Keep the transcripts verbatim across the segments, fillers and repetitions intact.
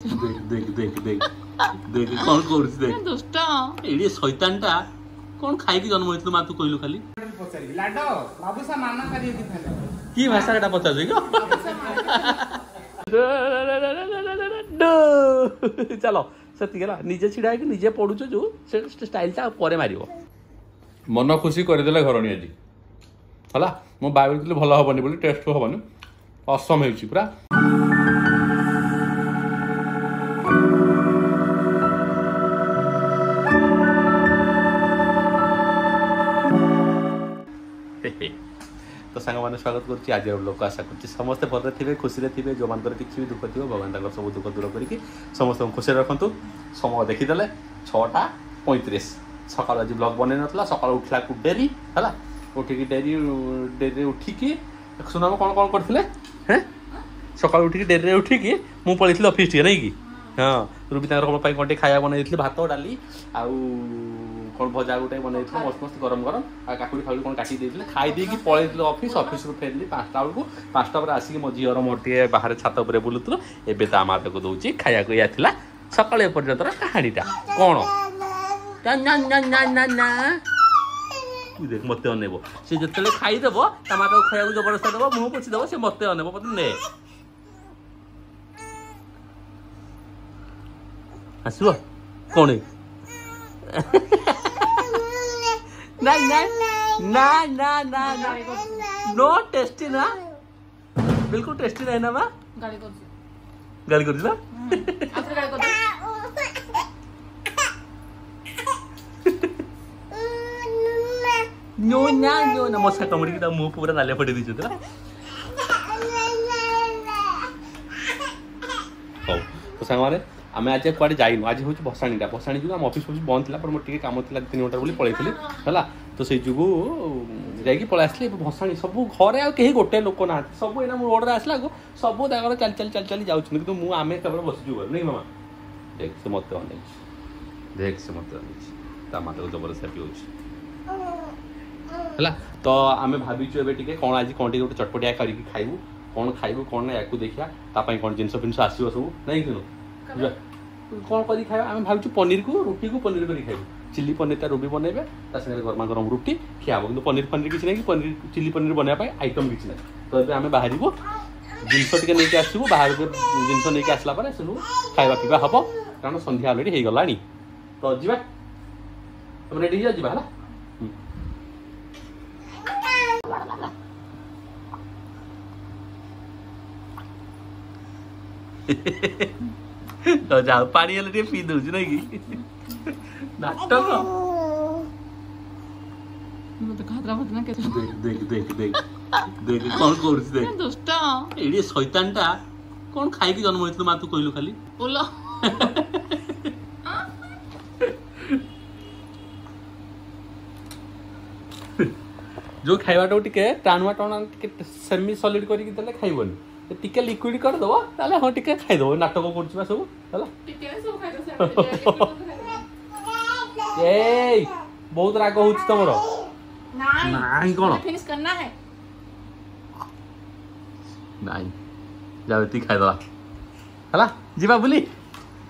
ଦେଖ ଦେଖ ଦେଖ ଦେଖ ଦେଖ କଣ କରୁଛି ଦେଖ। ଦୁଷ୍ଟ ଏଇଠି ଶୈତାନଟା କଣ ଖାଇକି ଜନ୍ମ ହେଇଥିଲୁ ମା, ତୁ କହିଲୁ ଖାଲି? ପଚାରିବି ଲାଡ ବାବୁସା ମାନା କରିକି ଥିଲେ। କି ଭାଷା ଏଟା ପଚାରୁଛୁ କି? ଚାଲ, ସେତିକି ହେଲା। ନିଜେ ଛିଡା ହେଇକି ନିଜେ ପଢୁଛୁ ଯୋଉ ସେ ଷ୍ଟାଇଲଟା ପରେ ମାରିବ। ମନ ଖୁସି କରିଦେଲେ ଘରଣୀ ଆଜି। ହେଲା, ମୁଁ ଭାବିଥିଲି ଭଲ ହବନି ବୋଲି, ଟେଷ୍ଟ ହବନି, ଅସମ ହେଇଛି ପୁରା। ତ ସାଙ୍ଗମାନେ, ସ୍ୱାଗତ କରୁଛି ଆଜିର ଲୋକ। ଆଶା କରୁଛି ସମସ୍ତେ ଭଲରେ ଥିବେ, ଖୁସିରେ ଥିବେ। ଯେଉଁମାନଙ୍କର କିଛି ବି ଦୁଃଖ ଥିବ, ଭଗବାନ ତାଙ୍କର ସବୁ ଦୁଃଖ ଦୂର କରିକି ସମସ୍ତଙ୍କୁ ଖୁସିରେ ରଖନ୍ତୁ। ସମୟ ଦେଖିଦେଲେ ଛଅଟା ପଇଁତିରିଶ। ସକାଳୁ ଆଜି ବ୍ଲଗ୍ ବନେଇ ନଥିଲା, ସକାଳୁ ଉଠିଲାକୁ ଡେରି ହେଲା। ଉଠିକି ଡେରି ଡେରିରେ ଉଠିକି ସୁନାମ କ'ଣ କ'ଣ କରିଥିଲେ? ହେଁ, ସକାଳୁ ଉଠିକି ଡେରିରେ ଉଠିକି ମୁଁ ପଳେଇଥିଲି ଅଫିସ୍ ଟିକେ, ନାଇଁ କି? ହଁ, ରୁବି ତାଙ୍କର କ'ଣ ପାଇଁ କ'ଣ ଟିକେ ଖାଇବା ବନେଇ ଦେଇଥିଲି, ଭାତ ଡାଲି ଆଉ କ'ଣ ଭଜା ଗୋଟେ ବନେଇଥିଲେ, ମସ୍ତ ମସ୍ତ ଗରମ ଗରମ, ଆଉ କାକୁଡ଼ି ଫାକୁଡ଼ି କ'ଣ କାଟି ଦେଇଥିଲେ। ଖାଇ ଦେଇକି ପଳେଇଥିଲି ଅଫିସ୍। ଅଫିସରୁ ଫେରିଲି ପାଞ୍ଚଟା ବେଳକୁ। ପାଞ୍ଚଟା ପରେ ଆସିକି ମୋ ଝିଅର ମୋର ଟିକେ ବାହାରେ ଛାତ ଉପରେ ବୁଲୁଥିଲୁ। ଏବେ ତା ମା ତାକୁ ଦେଉଛି ଖାଇବାକୁ। ଏଇଆ ଥିଲା ସକାଳୁ ଏପର୍ଯ୍ୟନ୍ତର କାହାଣୀଟା। କ'ଣ ନା ନା ନା ନା ନା, ଦେଖ, ମତେ ଅନେଇବ ସେ। ଯେତେବେଳେ ଖାଇଦେବ, ତା ମା ତାକୁ ଖାଇବାକୁ ଜବରଦସ୍ତ ଦେବ, ମୁହଁ ପୋଛିଦେବ, ସେ ମତେ ଅନେଇବ, ମତେ ନେ। ଆସିବ କ'ଣ? ନାଇଁ ନାଇଁ, ନା ନା ନା ନା, नो टेस्टी ନା, ବିଲକୁଲ ଟେଷ୍ଟି ନାହିଁ ନା ମା? ଗାଳି କରୁଛି, ଗାଳି କରୁଛି ନା। ଆଉଥରେ ଗାଳି କରୁଛି। ନୋ ନା, ନୋ ନା। ମଶା କାମୁଡ଼ିକି ତା ମୁହଁ ପୁରା ନାଲିଆ ଫଟେଇ ଦେଇଛନ୍ତି ନା। ହଉ, ତ ସାଙ୍ଗମାନେ, ଆମେ ଆଜି କୁଆଡ଼େ ଯାଇନୁ। ଆଜି ହେଉଛି ଭସାଣିଟା। ଭସାଣି ଯୋଗୁଁ ଆମ ଅଫିସ୍ ଫଫିସ୍ ବନ୍ଦ ଥିଲା, ਪਰ ମୋର ଟିକେ କାମ ଥିଲା ତିନି ଘଣ୍ଟା ବୋଲି ପଳେଇଥିଲି। ହେଲା, ତ ସେଇ ଯୋଗୁଁ ଯାଇକି ପଳେଇ ଆସିଲି। ଏବେ ଭସାଣି, ସବୁ ଘରେ ଆଉ କେହି ଗୋଟେ ଲୋକ ନାହାନ୍ତି। ସବୁ ଏଇନା ମୁଁ ରୋଡ଼ରେ ଆସିଲାକୁ ସବୁ ତାଙ୍କର ଚାଲି ଚାଲି ଚାଲି ଚାଲି ଯାଉଛନ୍ତି, କିନ୍ତୁ ମୁଁ ଆମେ କେବଳ ବସିଛୁ ଘରେ, ନାଇଁ ମାମା? ଦେଖ, ସେ ମତେ ଅନେଇଛି। ଦେଖ, ସେ ମତେ ଅନେଇଛି। ତା ମା ତାକୁ ଜବରଦସ୍ତି ପିଉଛି। ହେଲା, ତ ଆମେ ଭାବିଛୁ ଏବେ ଟିକେ କ'ଣ ଆଜି କ'ଣ ଟିକେ ଗୋଟେ ଚଟପଟିଆ କରିକି ଖାଇବୁ। କ'ଣ ଖାଇବୁ କ'ଣ ନା, ୟାକୁ ଦେଖିବା। ତା ପାଇଁ କ'ଣ ଜିନିଷ ଫିନିଷ ଆସିବ ସବୁ, ନାଇଁ କି? ଯିବା, କ'ଣ କରିକି ଖାଇବା। ଆମେ ଭାବିଛୁ ପନିରକୁ ରୁଟିକୁ ପନିର କରିକି ଖାଇବୁ। ଚିଲି ପନିରଟା ରୁବି ବନେଇବେ, ତା ସାଙ୍ଗରେ ଗରମା ଗରମ ରୁଟି ଖିଆ ହବ। କିନ୍ତୁ ପନିର ଫନିର କିଛି ନାହିଁ କି ପନିର ଚିଲି ପନିର ବନେଇବା ପାଇଁ ଆଇଟମ୍ କିଛି ନାହିଁ। ତ ଏବେ ଆମେ ବାହାରିବୁ, ଜିନିଷ ଟିକେ ନେଇକି ଆସିବୁ ବାହାରକୁ। ଜିନିଷ ନେଇକି ଆସିଲା ପରେ ସବୁ ଖାଇବା ପିଇବା ହବ, କାରଣ ସନ୍ଧ୍ୟା ଅଲରେଡ଼ି ହେଇଗଲାଣି। ତ ଯିବା, ତମେ ରେଡ଼ି ହେଇଯାଅ, ଯିବା। ହେଲା, ତ ଯାଉ, ପାଣି ହେଲେ ଟିକେ ପିଇ ଦଉଛି, ନାଇଁ କି? ନାଟକ। ମତେ ଖାତରା ମତେ ନା। ଦେଖ ଦେଖ ଦେଖ ଦେଖ ଦେଖ କଣ କରୁଛି ଦେଖ। ଦୁଷ୍ଟ ଏଇଠି ଶୈତାନଟା କଣ ଖାଇକି ଜନ୍ମ ହେଇଥିଲୁ ମା, ତୁ କହିଲୁ ଖାଲି? ବୋଲ। ଯୋଉ ଖାଇବାଟାକୁ ଟିକେ ଟାଣୁଆ ଟାଣୁଆ, ଟିକେ ସେମି ସଲିଡ୍ କରିକି ଦେଲେ ଖାଇବନି, ଟିକେ ଲିକ୍ୱିଡ କରିଦବ ତାହେଲେ ହଁ ଟିକେ ଖାଇଦବ। ନାଟକ କରୁଛି ବା ସବୁ। ହେଲା, ଟିକେ ସବୁ ଖାଇଦବ। ଏଇ ବହୁତ ରାଗ ହଉଛି ତମର। ନାଇଁ, କଣ ଫିନିଶ करना है? ନାଇଁ, ଯାଉ, ଏତିକି ଖାଇଦବା। ହେଲା, ଯିବା ବୁଲି।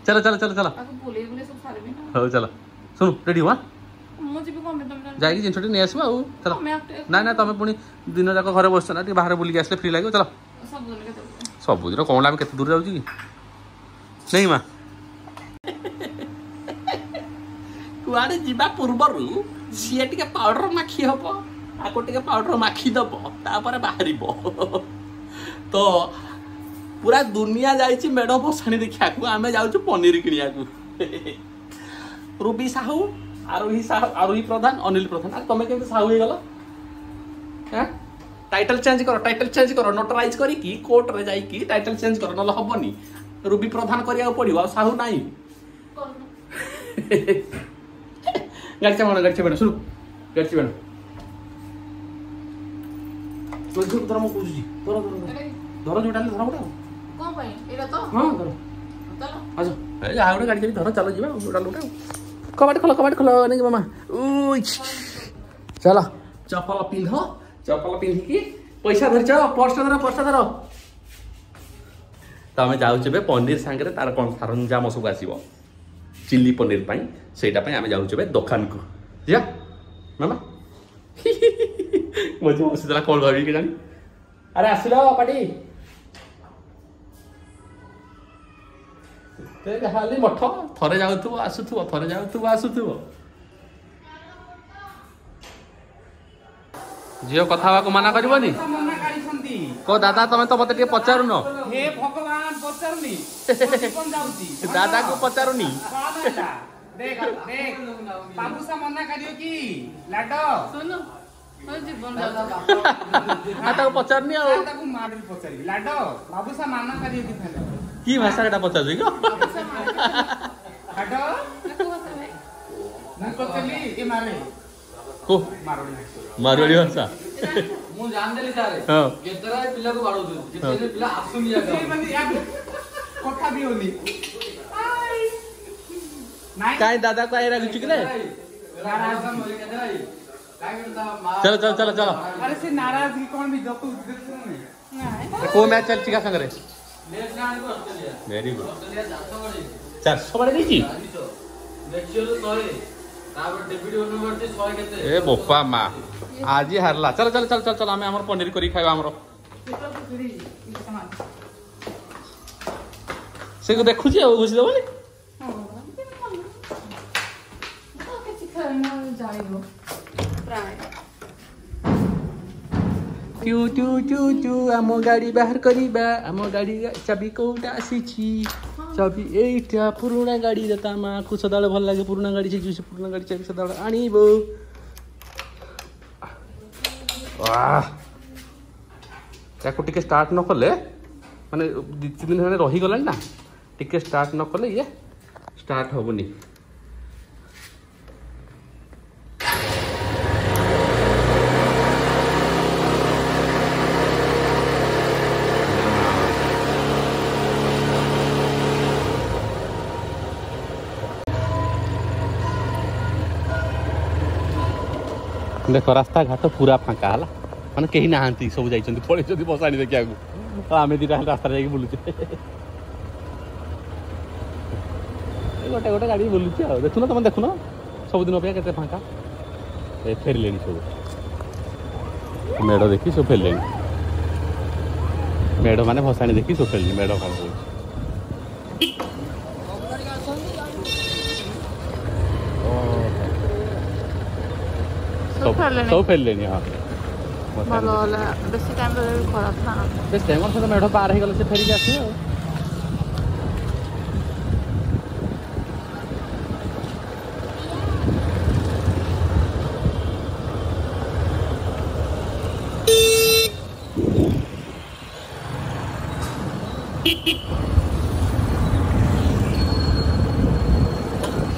ଚାଲ ଚାଲ ଚାଲ ଚାଲ। ତାକୁ ବୁଲେଇ ବୁଲେଇ ସବୁ ସାରିବି ନା। ହଉ ଚାଲ। ଶୁଣୁ, ରେଡି ହୁଆ। ମୁଁ ଯିବି କଣ ପାଇଁ? ତମେ ଯାଇକି ଜିନିଷଟି ନେଇ ଆସିବ ଆଉ। ଚାଲ। ତମେ ନାଇଁ ନା, ତମେ ପୁଣି ଦିନ ଯାକ ଘରେ ବସୁଛ ନା, ଟିକେ ବାହାରେ ବୁଲିକି ଆସିଲେ ଫ୍ରି ଲାଗିବ। ଚାଲ। ସବୁଦିନ କେତେ? ସବୁଦିନ କ'ଣ, ଆମେ କେତେ ଦୂର ଯାଉଛି କି? ନାଇଁ ମା, କୁଆଡ଼େ ଯିବା ପୂର୍ବରୁ ସିଏ ଟିକେ ପାଉଡର ମାଖି ହବ, ଆକୁ ଟିକେ ପାଉଡର ମାଖି ଦବ, ତାପରେ ବାହାରିବ। ତ ପୁରା ଦୁନିଆ ଯାଇଛି ମେଢ଼ ଭସାଣି ଦେଖିବାକୁ, ଆମେ ଯାଉଛୁ ପନିର କିଣିବାକୁ। ରୁବି ସାହୁ, ଆରୋହୀ ସାହୁ, ଆରୋହୀ ପ୍ରଧାନ, ଅନିଲ ପ୍ରଧାନ, ଆଉ ତମେ କେମିତି ସାହୁ ହେଇଗଲ? ହାଁ, ଟାଇଟଲ ଚେଞ୍ଜ କର, ଟାଇଟଲ ଚେଞ୍ଜ କର। ନୋଟରାଇଜ କରିକି କୋର୍ଟରେ ଯାଇକି ଟାଇଟଲ ଚେଞ୍ଜ କର, ନହେଲେ ହବନି। ରୁବି ପ୍ରଧାନ କରିବାକୁ ପଡିବ, ଆଉ ସାହୁ ନାହିଁ। ଗାଡ଼ି ଚାବଣ, ଗାଡ଼ି ଚାବଣ, ଶୁଣୁ, ଗାଡ଼ି ଚାବଣ ଧର, ମୁଁ କହୁଛି ଧର ଧର ଧର, ଯୋଉଟା ହେଲେ ଧର ଗୋଟେ। ଆଉ କଣ ପାଇଁ ଏଇଟା ତ? ହଁ, ଧର। ଚାଲ। ଆସ, ଯାହା ଗୋଟେ ଗାଡ଼ି ଚାବି ଧର, ଚାଲ ଯିବା। ଯୋଉଟା ଗୋଟେ ଆଉ କବାଟ ଖୋଲ, କବାଟ ଖୋଲ। ନାଇଁ ମାମା, ଚାଲ, ଚପଲ ପିନ୍ଧ। ଚପଲ ପିନ୍ଧିକି ପଇସା ଧରିଛ? ପର୍ସଟା ଧର, ପର୍ସଟା ଧର। ତ ଆମେ ଯାଉଛୁ ଏବେ ପନିର ସାଙ୍ଗରେ ତାର କ'ଣ ସରଞ୍ଜାମ ସବୁ ଆସିବ ଚିଲି ପନିର ପାଇଁ, ସେଇଟା ପାଇଁ ଆମେ ଯାଉଛୁ ଏବେ ଦୋକାନକୁ। ଯିବା ମାମା? ମୋ ଝିଅ ବସିଥିଲା, କ'ଣ ଭାବିକି କେଜାଣି। ଆରେ ଆସିଲ ପାଟି ଏତେ ଯାହାହେଲେ ମଠ ଥରେ ଯାଉଥିବ ଆସୁଥିବ, ଥରେ ଯାଉଥିବ ଆସୁଥିବ। ଝିଅ କଥା ହେବାକୁ ମନା କରିବନି? ମନା କରିଛନ୍ତି। କହ ଦାଦା, ତମେ ତ ମତେ ଟିକେ ପଚାରୁନ। ହେ ଭଗବାନ, ପଚାରୁନି, ଜୀବନ ଯାଉଛି। ଦାଦାକୁ ପଚାରୁନି। କଣ ହେଲା? ଦେଖ ଦେଖ, ବାବୁସା ମନା କରିବ କି ଲାଡ? ଶୁଣୁ, ମୋ ଜୀବନ ଯାଉଛି। ଆଉ ତାକୁ ପଚାରୁନି ଆଉ ତାକୁ ମାରି ପଚାରିବି। ଲାଡ, ବାବୁସା ମନା କରିବ କି ଫାଇନାଲ? କି ଭାଷା ଏଟା ପଚାରୁଛି କି ବାବୁସା ମନା ଲାଡ? କୋଉ ଭାଷା ଭାଇ? ମୁଁ ପଚାରିଲି ଏ ମାରେ କୋ ମାରଡ଼ି। ମାରୱାଡ଼ି ଭାଷା। ମୁଁ ଜାଣିଦେଲି ତାରେ ହଁ। କେତେଟା ପିଲାକୁ ବାଡଉଛନ୍ତି, ଯେତେ ପିଲା ଆସୁନି ଜାଗା। ସେ ମାନେ ୟାକୁ କଥା ବି ହଉନି ନାଇଁ। କାଇଁ ଦାଦା କାଇଁ ରାଗୁଛୁ କି ରେ? ଚଲ ଚଲ ଚଲ ଚଲ। ଆରେ ସେ ନାରାଜ କି କଣ ବି ଜତୁ ଦେଖୁନି। ନାଇଁ। କୋଉ ମ୍ୟାଚ୍ ଚାଲିଛି କା ସାଙ୍ଗରେ? ଭେରି ଗୁଡ୍, ଚାରିଶହ ବାଡ଼େଇ ଦେଇଛି। ଏ ବୋପା ମା, ଆଜି ହାରିଲା। ଚାଲ ଚାଲ ଚାଲ ଚାଲ ଚାଲ, ଆମେ ଆମର ପନିର କରିକି ଖାଇବା ଆମର। ସେ ଦେଖୁଛି ଆଉ ଘୁଷି ଦେବନି। କିଛି ଖେଳନା ଜାଣିବ ପ୍ରାୟ। ଟୁ ଟୁ ଟୁ ଟୁ, ଆମ ଗାଡ଼ି ବାହାର କରିବା। ଆମ ଗାଡ଼ି ଚାବି କୋଉଟା ଆସିଛି? ଚାବି ଏଇଟା ପୁରୁଣା ଗାଡ଼ିରେ। ତା ମାଆକୁ ସଦାବେଳେ ଭଲ ଲାଗେ ପୁରୁଣା ଗାଡ଼ି, ସେ ସେ ପୁରୁଣା ଗାଡ଼ି ଚାବି ସଦାବେଳେ ଆଣିବ। ଆଃ, ତାକୁ ଟିକେ ଷ୍ଟାର୍ଟ ନ କଲେ, ମାନେ ଦୁଇ ତିନି ଦିନ ହେଲାଣି ରହିଗଲାଣି ନା, ଟିକେ ଷ୍ଟାର୍ଟ ନ କଲେ ଇଏ ଷ୍ଟାର୍ଟ ହବନି। ଦେଖ, ରାସ୍ତାଘାଟ ପୁରା ଫାଙ୍କା ହେଲା, ମାନେ କେହି ନାହାନ୍ତି, ସବୁ ଯାଇଛନ୍ତି ପଳେଇଛନ୍ତି ବସାଣି ଦେଖିବାକୁ, ଆଉ ଆମେ ଦିଟା ଖାଲି ରାସ୍ତାରେ ଯାଇକି ବୁଲୁଛେ। ଏ ଗୋଟେ ଗୋଟେ ଗାଡ଼ି ବୁଲୁଛି ଆଉ। ଦେଖୁନ, ତମେ ଦେଖୁନ, ସବୁଦିନ ଅପେକ୍ଷା କେତେ ଫାଙ୍କା। ଏ ଫେରିଲେଣି ସବୁ, ମେଢ଼ ଦେଖି ସବୁ ଫେରିଲେଣି। ମେଢ଼ ମାନେ ଭସାଣି ଦେଖି ସବୁ ଫେରିଲେଣି। ମେଢ଼ କ'ଣ କହୁଛି? ସବୁ ଫେରିଲେଣି। ସବୁ ଫେରିଲେଣି, ହଁ। ଭଲ ହେଲା, ବେଶୀ ଟାଇମ୍ ରହିଲେ ବି ଖରାପ ନା। ବେଶ ଟାଇମ୍ ସେ ତ ମେଢ଼ ପାର ହେଇଗଲେ ସେ ଫେରିକି ଆସିବେ ଆଉ।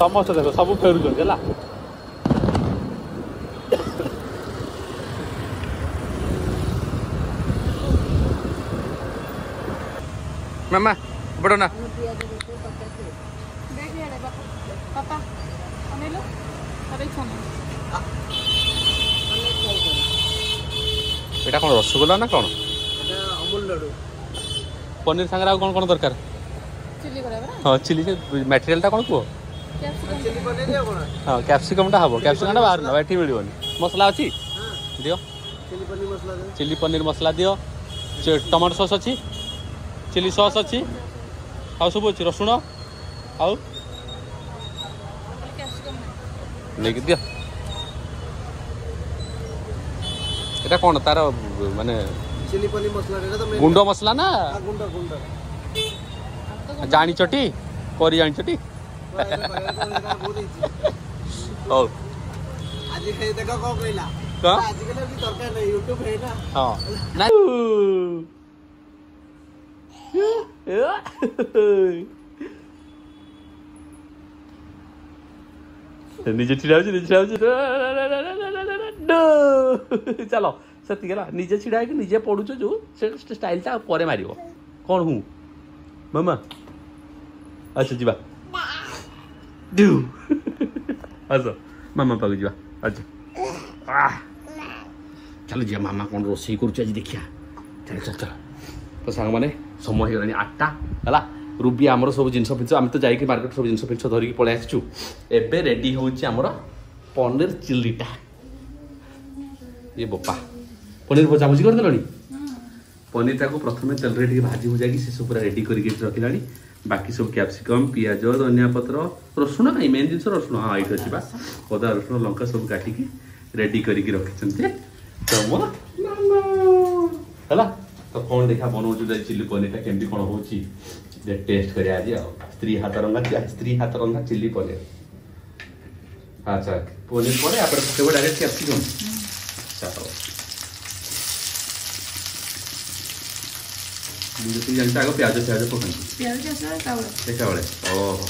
ସମସ୍ତେ ଦେଖ, ସବୁ ଫେରୁଛନ୍ତି ହେଲା। ମାମା ବଡ଼ ନା। ଦେଖ ଇଆଡ଼େ ବାପା, ବାପା ଅନେଇଲୁ, ତାର ଇଚ୍ଛା ନାହିଁ। ଏଇଟା କ'ଣ ରସଗୋଲା ନା କ'ଣ? ପନିର ସାଙ୍ଗରେ ଆଉ କ'ଣ କ'ଣ ଦରକାର? ଚିଲି କରିବା ପରା। ହଁ, ଚିଲି ମ୍ୟାଟେରିଆଲଟା କ'ଣ କୁହ? କ୍ୟାପ୍ସିକମ୍। ହଁ, କ୍ୟାପ୍ସିକମ୍ଟା ହବ। କ୍ୟାପ୍ସିକମ୍ଟା ବାହାରୁ ନେବା, ଏଠି ମିଳିବନି। ମସଲା ଅଛି, ଦିଅ। ଚିଲି ପନିର ମସଲା ଦିଅ। ଟମାଟୋ ସସ୍ ଅଛି, ଚିଲି ସସ୍ ଅଛି, ଆଉ ସବୁ ଅଛି, ରସୁଣ ଆଉ କ୍ୟାପ୍ସିକମ୍ ନେଇକି ଦିଅ। ଏଟା କ'ଣ ତାର ମାନେ ଚିଲି ପନିର ମସଲା ଏଟା ତ ଗୁଣ୍ଡ ମସଲା ନା? ଗୁଣ୍ଡ ଗୁଣ୍ଡ। ଜାଣିଛଟି କରି, ଜାଣିଛଟି? ବହୁତ ହେଇଛି। ହଉ। ଆଜି ଖାଇ ଦେଖ କଣ କହିଲା। କଣ? ଆଜିକାଲି ଆଉ କିଛି ଦରକାର ନାହିଁ, ୟୁଟ୍ୟୁବ ହେଇନା। ହଁ, ନାଇଁ, ନିଜେ ଛିଡ଼ା ହଉଛି, ନିଜେ ଛିଡ଼ା ହଉଛି। ଚାଲ, ସେତିକି ହେଲା। ନିଜେ ଛିଡ଼ା ହେଇକି ନିଜେ ପଢୁଛ ଯୋଉ ସେ ଷ୍ଟାଇଲଟା ଆଉ ପରେ ମାରିବ କ'ଣ? ହୁଁ ମାମା, ଆଚ୍ଛା ଯିବା। ଆସ, ମାମା ପାଖକୁ ଯିବା। ଆଚ୍ଛା ଚାଲ ଯିବା, ମାମା କ'ଣ ରୋଷେଇ କରୁଛି ଆଜି ଦେଖିବା। ଚାଲ ଚାଲ ଚାଲ। ତ ସାଙ୍ଗମାନେ, ସମୟ ହେଇଗଲାଣି ଆଠଟା ହେଲା ରୁବି ଆମର ସବୁ ଜିନିଷ ଫିନିଷ ଆମେ ତ ଯାଇକି ମାର୍କେଟ ସବୁ ଜିନିଷ ଫିନିଷ ଧରିକି ପଳେଇ ଆସିଛୁ ଏବେ ରେଡ଼ି ହେଉଛି ଆମର ପନିର ଚିଲ୍ଲିଟା ଏ ବୋପା ପନିର ଭଜାଭୁଜି କରିଦେଲଣି ପନିରଟାକୁ ପ୍ରଥମେ ତେଲରେ ଟିକେ ଭାଜି ଭୁଜାକି ସେସବୁ ପୁରା ରେଡ଼ି କରିକି ଏଠି ରଖିଲାଣି ବାକି ସବୁ କ୍ୟାପ୍ସିକମ୍ ପିଆଜ ଧନିଆ ପତ୍ର ରସୁଣ କାଇଁ ମେନ୍ ଜିନିଷ ରସୁଣ ହଁ ଏଇଠି ଅଛି ବା ଅଦା ରସୁଣ ଲଙ୍କା ସବୁ କାଟିକି ରେଡ଼ି କରିକି ରଖିଛନ୍ତି ତମ ମାମା ହେଲା ତ କ'ଣ ଦେଖିବା ବନଉଛୁ ଚିଲି ପନିରଟା କେମିତି କ'ଣ ହେଉଛି ଟେଷ୍ଟ କରିବା ଆଜି ଆଉ ସ୍ତ୍ରୀ ହାତ ରନ୍ଧା ସ୍ତ୍ରୀ ହାତ ରନ୍ଧା ଚିଲି ପନିର ଆଚ୍ଛା ପନିର ପରେ ଆପଣ ପକେଇବ ଡାଇରେକ୍ଟ କ୍ୟାପ୍ସିକମ୍ ଆଚ୍ଛା ହଉ ମୁଁ ଯେତିକି ଜାଣିଛି ଆଗ ପିଆଜ ଫିଆଜ ପକାନ୍ତି ପିଆଜ ଏକାବେଳେ ଏକାବେଳେ ଓହୋ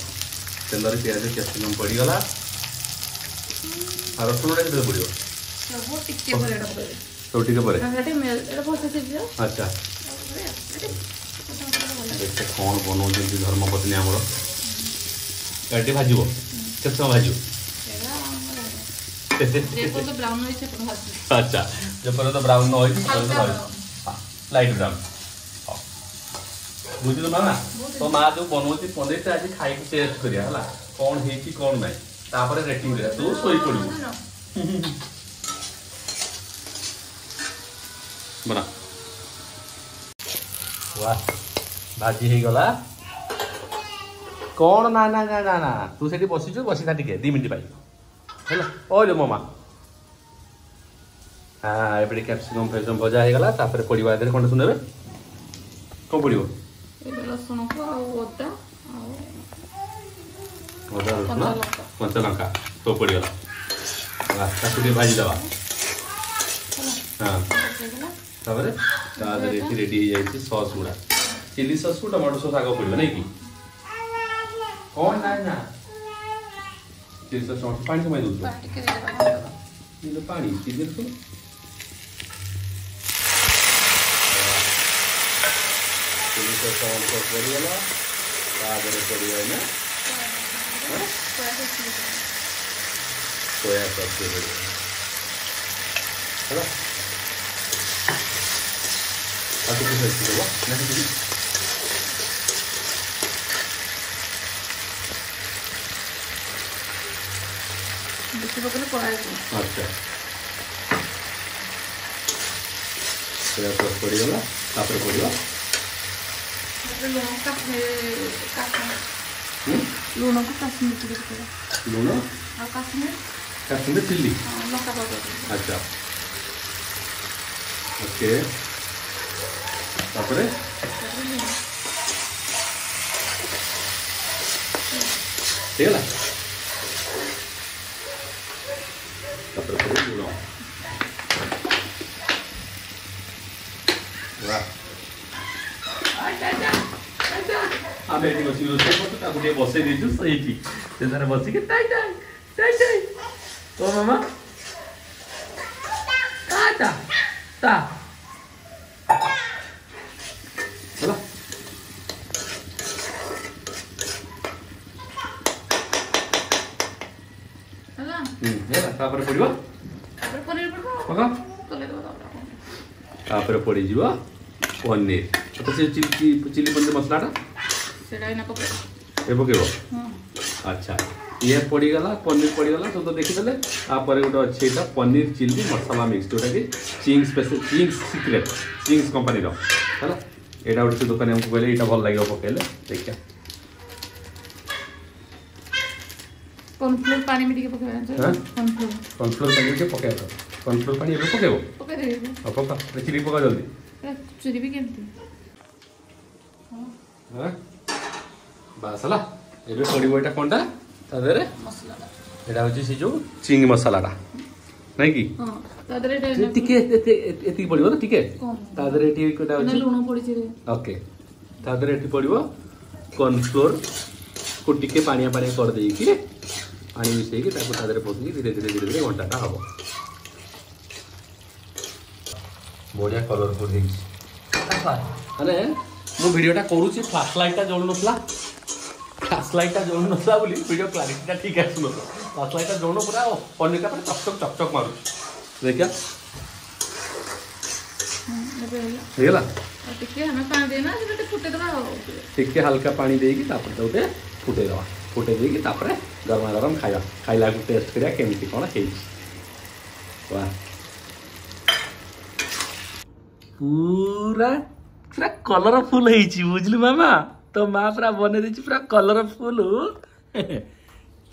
ତେଲରେ ପିଆଜ କ୍ୟାପ୍ସିକମ୍ ପଡ଼ିଗଲା ଆଉ ରସୁଣଟା କେତେବେଳେ ପଡ଼ିବ ସବୁ ଟିକେ ପରେ ଏଇଟା ପକେଇବେ ସବୁ ଟିକେ ପରେ ଏଇଟା ଭଲସେ ସିଝିବ ଆଚ୍ଛା ଦେଖେ କ'ଣ ବନଉଛନ୍ତି ଧର୍ମପତ୍ନୀ ଆମର ଏଠି ଭାଜିବ କେତେ ସମୟ ଭାଜିବ ଆଚ୍ଛା ଯେପର୍ଯ୍ୟନ୍ତ ବ୍ରାଉନ୍ ନ ହେଇଛି ସେପର୍ଯ୍ୟନ୍ତ ଲାଇଟ୍ ବ୍ରାଉନ୍ ବୁଝିଲୁ ମାମା ତୋ ମା ଯୋଉ ବନଉଛି ପନିରଟା ଆଜି ଖାଇକି ଟେଷ୍ଟ କରିବା ହେଲା କ'ଣ ହେଇଛି କ'ଣ ନାହିଁ ତାପରେ ରେଟିଂ କରିବା ତୁ ଶୋଇପଡ଼ିବୁ ବନା ୱା ଭାଜି ହେଇଗଲା କ'ଣ ନା ନା ନା ନା ନା ତୁ ସେଠି ବସିଛୁ ବସିଥା ଟିକେ ଦୁଇ ମିନିଟ୍ ପାଇଁ ହେଲା ଓଇଲୋ ମୋ ମା ହଁ ଏବେ ଟିକେ କ୍ୟାପ୍ସିକମ୍ ଫ୍ୟାପ୍ସିକମ୍ ଭଜା ହେଇଗଲା ତାପରେ ପଡ଼ିବ ଏଥିରେ କ'ଣ ଶୁଣିବେ କ'ଣ ପଡ଼ିବ ଏବେ ରସୁଣକୁ ଆଉ ଅଦା ଆଉ ଅଦା ରସୁଣ କଞ୍ଚା ଲଙ୍କା ସବୁ ପଡ଼ିଗଲା ତାକୁ ଟିକେ ଭାଜିଦେବା ହଁ ତାପରେ ତା ଦେହରେ ଏଠି ରେଡ଼ି ହେଇଯାଇଛି ସସ୍ ଗୁଡ଼ା ଚିଲି ସସ୍କୁ ଟମାଟୋ ସସ୍ ଆଗ ପଡ଼ିବ ନାଇଁ କି କ'ଣ ନା ନା ଚିଲି ସସ୍ ଟମାଟୋ ପାଣି କମାଇ ଦେଉଛୁ ପାଣି ଚିଲି ସବୁ ଚିଲି ସସ୍ ଟମାଟୋ ସସ୍ ପଡ଼ିଗଲା ତା ଦେହରେ ପଡ଼ିବ ଏଇନା ସୋୟା ସସ୍ ଟିକେ ପଡ଼ିବ ହେଲା ଆଉ ଟିକେ ସସ୍ ଦେବ ନା ସେତିକି ବେଶୀ ପକେଇଲେ କଳା ହେଇଯିବ ଆଚ୍ଛା ସୋୟା ସସ୍ ପଡ଼ିଗଲା ତାପରେ ପଡ଼ିବ ତାପରେ ଲୁଣ କାଶ୍ମୀର ଲୁଣକୁ କାଶ୍ମୀର ଟିକେ ପକେଇବା ଲୁଣ ଆଉ କାଶ୍ମୀର କାଶ୍ମୀର ଚିଲି ଲଙ୍କା ପାଉଡର ଆଚ୍ଛା ଓକେ ତାପରେ ତାପରେ ଲୁଣ ହେଇଗଲା ତାପରେ ପଡ଼ିବ ଲୁଣ ବାহ ଆମେ ଏଠି ବସିକି ରୋଷେଇ କରୁଛୁ ତାକୁ ଟିକେ ବସେଇ ଦେଇଛୁ ସେଇଠି ସେ ତାର ବସିକି ଟାଇ ଟାଇ ଟାଇ ଟାଇ ତୋ ମାମା ତା ତା ତା ହେଲା ହେଲା ହୁଁ ହେଲା ତାପରେ ପଡ଼ିବ ତାପରେ ପନିର ପଡ଼ିବ ପକା ତଲେଇ ଦେବ ତାପରେ ତାପରେ ପଡ଼ିଯିବ ପନିର ତ ସେ ଚିଲି ଚିଲି ପନିର ମସଲାଟା ସେଇଟା ଏଇନା ପକେଇବ ଏ ପକେଇବ ହଁ ଆଚ୍ଛା ଇଏ ପଡ଼ିଗଲା ପନିର ପଡ଼ିଗଲା ସବୁ ତ ଦେଖିଦେଲେ ତାପରେ ଗୋଟେ ଅଛି ଏଇଟା ପନିର ଚିଲି ମସଲା ମିକ୍ସ ଯେଉଁଟାକି Ching's special Ching's secret Ching's କମ୍ପାନୀର ହେଲା ଏଇଟା ଗୋଟେ ସେ ଦୋକାନୀ ଆମକୁ କହିଲେ ଏଇଟା ଭଲ ଲାଗିବ ପକେଇଲେ ଦେଖିବା କର୍ଣ୍ଣଫ୍ଲୋର ପାଣି ବି ଟିକେ ପକେଇବା ହଁ? କର୍ଣ୍ଣଫ୍ଲୋର କର୍ଣ୍ଣଫ୍ଲୋର ପାଣି ଟିକେ ପକେଇବା କର୍ଣ୍ଣଫ୍ଲୋର ପାଣି ଏବେ ପକେଇବ ପକେଇଦେବି ଆଉ ପକା ଚିଲି ପକା ଜଲ୍ଦି ଚୁରିବି କେମିତି ହଁ ବାସ୍ ହେଲା ଏବେ ପଡ଼ିବ ଏଇଟା କ'ଣଟା ତା ଦେହରେ ମସଲାଟା ଏଇଟା ହେଉଛି ସେ ଯେଉଁ ଚିଙ୍ଗ ମସଲାଟା ନାଇଁ କି ହଁ ତା ଦେହରେ ଏଇଟା ଟିକେ ଏତିକି ପଡ଼ିବ ତ ଟିକେ କମ୍ ତା ଦେହରେ ଏଠି ଏଇଟା ମାନେ ଅଛି ଲୁଣ ପଡ଼ିଛି ରେ ଓକେ ତା ଦେହରେ ଏଠି ପଡ଼ିବ କର୍ଣ୍ଣଫ୍ଲୋର୍ କୁ ଟିକେ ପାଣିଆ ପାଣିଆ କରିଦେଇକି ପାଣି ମିଶେଇକି ତାକୁ ତା ଦେହରେ ପକେଇକି ଧୀରେ ଧୀରେ ଧୀରେ ଧୀରେ ଘଣ୍ଟାଟା ହବ ବଢ଼ିଆ କଲରଫୁଲ୍ ହେଇଛି ମାନେ ମୁଁ ଭିଡ଼ିଓଟା କରୁଛି ଫ୍ଲାସ୍ ଲାଇଟ୍ଟା ଜଳୁନଥିଲା ଫ୍ଲାସ୍ ଲାଇଟ୍ଟା ଜଳୁନଥିଲା ବୋଲି ଭିଡ଼ିଓ କ୍ଲାରିଟିଟା ଠିକ୍ ଆସୁନଥିଲା ଫ୍ଲାସ୍ ଲାଇଟ୍ଟା ଜଳୁନ ପୁରା ପନିରଟା ପୁରା ଚକଚକ ଚକଚକ ମାରୁଛି ଦେଖିବା ଏବେ ହେଲା ହେଇଗଲା ଟିକେ ଆମେ ପାଣି ଦେଇନା ସେଟା ଫୁଟେଇଦେବା ଆଉ ଟିକେ ହାଲକା ପାଣି ଦେଇକି ତାପରେ ତାକୁ ଟିକେ ଫୁଟେଇଦେବା ଫୁଟେଇ ଦେଇକି ତାପରେ ଗରମା ଗରମ ଖାଇବା ଖାଇଲାକୁ ଟେଷ୍ଟ କରିବା କେମିତି କ'ଣ ହେଇଛି ବା ପୁରା ପୁରା କଲରଫୁଲ ହେଇଛି ବୁଝିଲୁ ମାମା ତୋ ମା ପୁରା ବନେଇ ଦେଇଛି ପୁରା colourful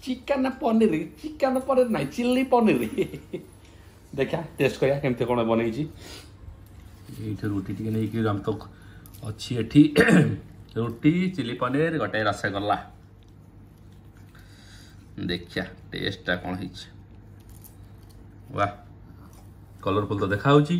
chicken paneer chicken paneer ନାହିଁ ଚିଲି ପନିର ଦେଖିବା ଟେଷ୍ଟ କରିବା କେମିତି କ'ଣ ବନେଇଛି ଏଇଠି ରୁଟି ଟିକେ ନେଇକି ଆମେ ତ ଅଛି ଏଠି ରୁଟି ଚିଲି ପନିର ଗୋଟେ ରସଗୋଲା ଦେଖିବା ଟେଷ୍ଟଟା କ'ଣ ହେଇଛି ବା କଲରଫୁଲ ତ ଦେଖାହେଉଛି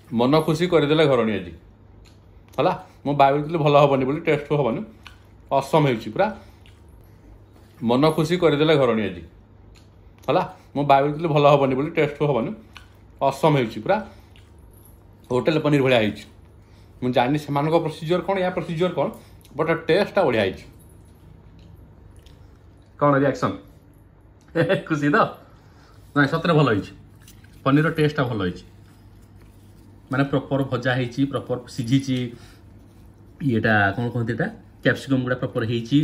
ମନ ଖୁସି କରିଦେଲେ ଘରଣୀ ଆଜି ହେଲା ମୁଁ ଭାବିଥିଲି ଭଲ ହେବନି ବୋଲି ଟେଷ୍ଟ ହେବନି ଅସମ ହେଇଛି ପୁରା ମନ ଖୁସି କରିଦେଲେ ଘରଣୀ ଆଜି ହେଲା ମୁଁ ଭାବିଥିଲି ଭଲ ହେବନି ବୋଲି ଟେଷ୍ଟ ହେବନି ଅସମ ହେଇଛି ପୁରା ହୋଟେଲ ପନିର ଭଳିଆ ହେଇଛି ମୁଁ ଜାଣିନି ସେମାନଙ୍କ ପ୍ରୋସିଜିଓର କ'ଣ ୟା ପ୍ରୋସିଜିଓର କ'ଣ ବଟ୍ ଟେଷ୍ଟଟା ବଢ଼ିଆ ହେଇଛି କ'ଣ ରିଆକ୍ସନ୍ ଖୁସି ତ ନାଇଁ ସତରେ ଭଲ ହେଇଛି ପନିରର ଟେଷ୍ଟଟା ଭଲ ହେଇଛି ମାନେ ପ୍ରପର୍ ଭଜା ହେଇଛି ପ୍ରପର୍ ସିଝିଛି ଇଏଟା କ'ଣ କହନ୍ତି ଏଇଟା କ୍ୟାପ୍ସିକମ୍ ଗୁଡ଼ା ପ୍ରପର୍ ହେଇଛି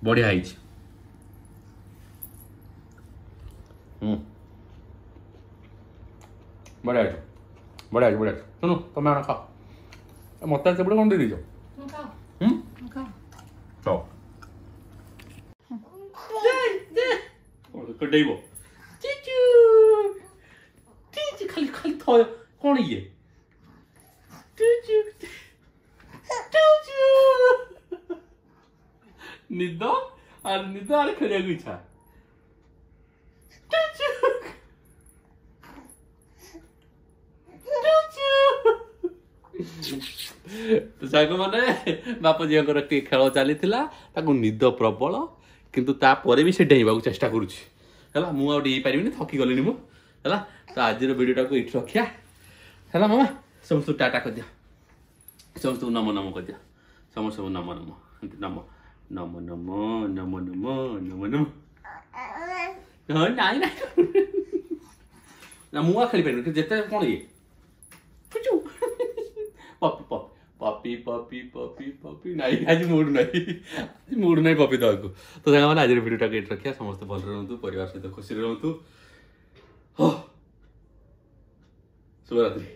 ବଢ଼ିଆ ହେଇଛି ହୁଁ ବଢ଼ିଆ ହେଇଛି ବଢ଼ିଆ ହେଇଛି ବଢ଼ିଆ ହେଇଛି ଶୁଣୁ ତମେ ଆଣ ଖାଅ ମୋତେ ଏତେ ବଡ଼ କ'ଣ ଦେଇଦେଇଛ ହୁଁ ହଉ ଡେଇବ ଖାଲି ଖାଲି ଥୟ କ'ଣ ଇଏ ନିଦ আর ନିଦ আর ଖେଳିବାକୁ ଇଚ୍ଛା ତ ସାଙ୍ଗମାନେ ବାପ ଝିଅଙ୍କର ଟିକେ ଖେଳ ଚାଲିଥିଲା ତାକୁ ନିଦ ପ୍ରବଳ କିନ୍ତୁ ତାପରେ ବି ସେ ଡେଇଁବାକୁ ଚେଷ୍ଟା କରୁଛି ହେଲା ମୁଁ ଆଉ ଡେଇଁ ପାରିବିନି ଥକି ଗଲିଣି ମୁଁ ହେଲା ତ ଆଜିର ଭିଡ଼ିଓଟାକୁ ଏଇଠି ରଖିବା ହେଲା ମାମା ସମସ୍ତଙ୍କୁ ଟାଟା କରିଦିଅ ସମସ୍ତଙ୍କୁ ନମ ନମ କରିଦିଅ ସମସ୍ତଙ୍କୁ ନମ ନମ ନମ ନମ ନମ ନମ ନମ ନମ ନମ ହଁ ନାଇଁ ନାଇଁ ନା ମୁଁ ଆଉ ଖେଳିପାରିବିନି ଯେତେ କ'ଣ ଇଏ poppy poppy poppy poppy poppy poppy ନାଇଁ ଆଜି ମୁଡ୍ ନାହିଁ ଆଜି ମୁଡ୍ ନାହିଁ ପପି ଦେବାକୁ ତ ସାଙ୍ଗମାନେ ଆଜିର ଭିଡ଼ିଓଟାକୁ ଏଇଠି ରଖିବା ସମସ୍ତେ ଭଲରେ ରୁହନ୍ତୁ ପରିବାର ସହିତ ଖୁସିରେ ରୁହନ୍ତୁ ହଁ ଶୁଭରାତ୍ରି।